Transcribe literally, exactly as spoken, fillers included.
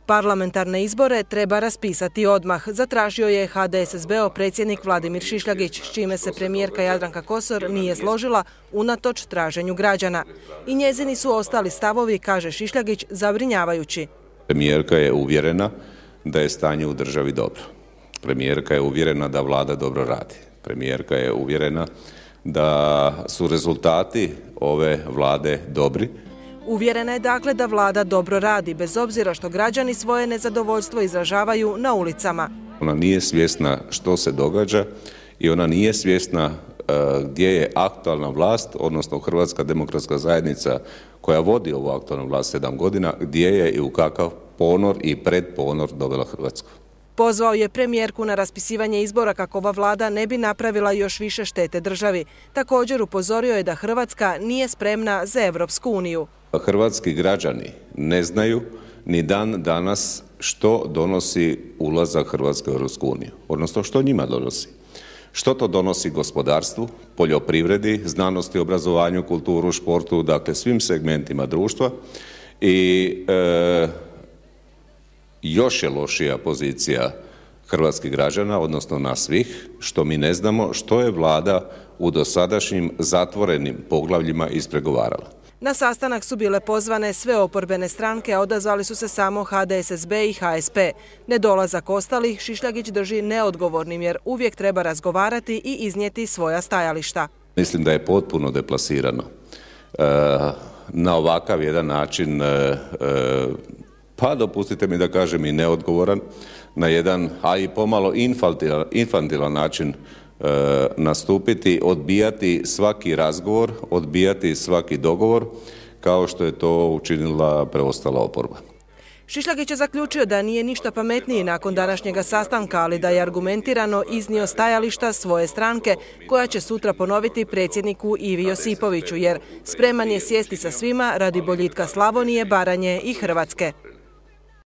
Parlamentarne izbore treba raspisati odmah, zatražio je H D S S B-ov predsjednik Vladimir Šišljagić, s čime se premijerka Jadranka Kosor nije složila unatoč traženju građana. I njezini su ostali stavovi, kaže Šišljagić, zabrinjavajući. Premijerka je uvjerena da je stanje u državi dobro. Premijerka je uvjerena da vlada dobro radi. Premijerka je uvjerena da su rezultati ove vlade dobri. Uvjerena je dakle da vlada dobro radi, bez obzira što građani svoje nezadovoljstvo izražavaju na ulicama. Ona nije svjesna što se događa i ona nije svjesna uh, gdje je aktualna vlast, odnosno Hrvatska demokratska zajednica koja vodi ovu aktualnu vlast sedam godina, gdje je i u kakav ponor i predponor dovela Hrvatsku. Pozvao je premijerku na raspisivanje izbora kako ova vlada ne bi napravila još više štete državi. Također upozorio je da Hrvatska nije spremna za Europsku uniju. Hrvatski građani ne znaju ni dan danas što donosi ulazak Hrvatske u Europsku uniju, odnosno što njima donosi. Što to donosi gospodarstvu, poljoprivredi, znanosti, obrazovanju, kulturu, športu, dakle svim segmentima društva i e, još je lošija pozicija hrvatskih građana, odnosno nas svih, što mi ne znamo što je vlada u dosadašnjim zatvorenim poglavljima ispregovarala. Na sastanak su bile pozvane sve oporbene stranke, a odazvali su se samo H D S S B i H S P. Nedolazak ostalih Šišljagić drži neodgovornim jer uvijek treba razgovarati i iznijeti svoja stajališta. Mislim da je potpuno deplasirano e, na ovakav jedan način, e, pa dopustite mi da kažem i neodgovoran, na jedan, a i pomalo infantilan, infantilan način E, nastupiti, odbijati svaki razgovor, odbijati svaki dogovor, kao što je to učinila preostala oporba. Šišljagić je zaključio da nije ništa pametniji nakon današnjega sastanka, ali da je argumentirano iznio stajališta svoje stranke, koja će sutra ponoviti predsjedniku Ivi Josipoviću, jer spreman je sjesti sa svima radi boljitka Slavonije, Baranje i Hrvatske.